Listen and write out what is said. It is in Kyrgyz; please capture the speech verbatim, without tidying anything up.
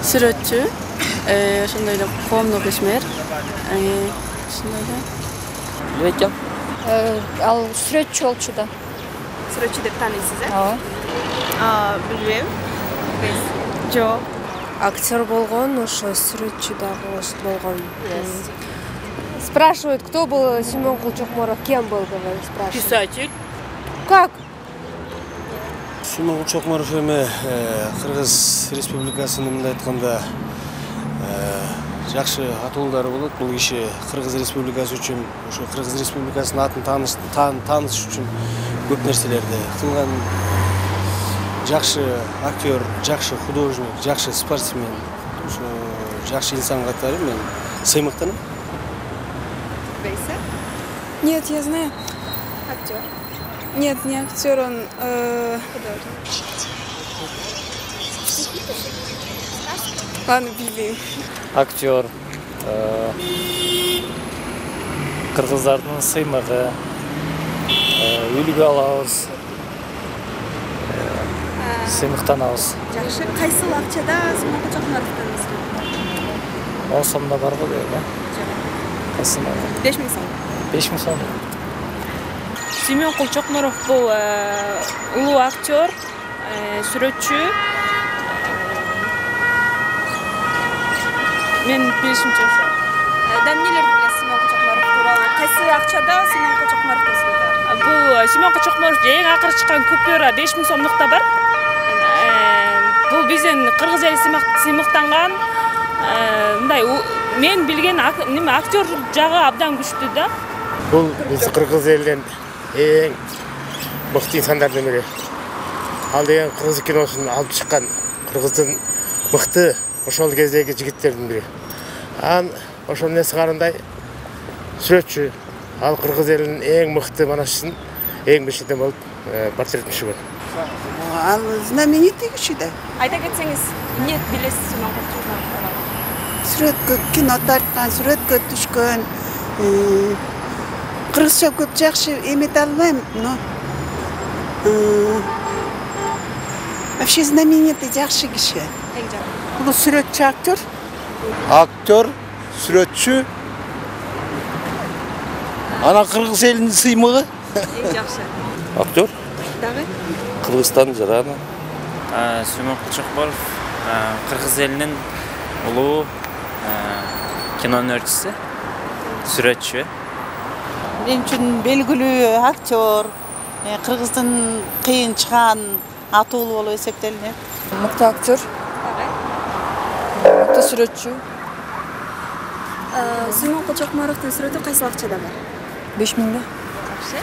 Сүрөтчү, ошондой эле коомдук ишмер. Ошондой эле. Билбейт жам. Ал сүрөтчү болчу да. Сүрөтчү деп тааныйсыз, э? Ооба. А, билбейм. Жок. Актер болгон, ошо сүрөтчү дагы болгон. Спрашивают, кто был Семен Кулчокморов, кем был, говорит, спрашивают. Писатель. Как? Семен Кулчокморов эми Кыргыз Республикасынын мындай айтканда жакшы атуулдары болот. Бул киши Кыргыз Республикасы үчүн, ошо Кыргыз Республикасынын атын тааныш үчүн көп нерселерди кылган. Жакшы актер, жакшы художник, жакшы спортсмен, ошо жакшы инсан катары мен сыймыктанам. Бейсе? Нет, я знаю. Актер. Нет, не актер, он э... Художник. Ладно, билбейм. Актер. Кыргыздардын сыймыгы. Үлгү алабыз. Сыймыктанабыз. Жакшы. Кайсыл акчада Семен Кулчокморовдон эсептейт? он сомдо бар го дейм, э? Кайсында? беш миң сом. беш миң сом. Семен Кулчокморов бул улуу актер, сүрөтчү. Мен билишимче ошо. Да эмнелерди билесиз Семен Кулчокморов тууралуу? Кайсы акчада Семен Кулчокморовдон эсептейт? Бул Семен Кулчокморов эң акыркы чыккан купюра беш миң сомдукта бар. Бул биздин кыргыз эли сыймыктанган. Мындай мен билген неме актер жагы абдан күчтүү да. Бул биз кыргыз элинин эң мыкты инсандардын бири. Ал деген кыргыз киносун алып чыккан кыргыздын мыкты ошол кездеги жигиттердин бири. Ан ошол эмнеси карындай сүрөтчү. Ал кыргыз элинин эң мыкты манашчысын эң бешиден болуп портрет түшүргөн. Ал знаменитый киши да. Айта кетсеңиз, эмне билесиз Семен Кулчокморов тууралуу? Сүрөткө кино тарткан, сүрөткө түшкөн. Кыргызча көп жакшы эмете албайм, но вообще знаменитый жакшы киши. Эң жакшы. Бул сүрөтчү актер. Актер, сүрөтчү. Ана кыргыз элинин сыймыгы. Эң жакшы. Актер. Дагы? Кыргызстан жараны. Семен Кулчокморов кыргыз элинин улуу кино өнөрчүсү, сүрөтчү. Мен үчүн белгилүү актер, кыргыздын кыйын чыган атуулу болуп эсептелинет. Мыкты актер. Мыкты сүрөтчү. Семен Кулчокморовдун сүрөтү кайсы акчада бар? беш миңде. Жакшы.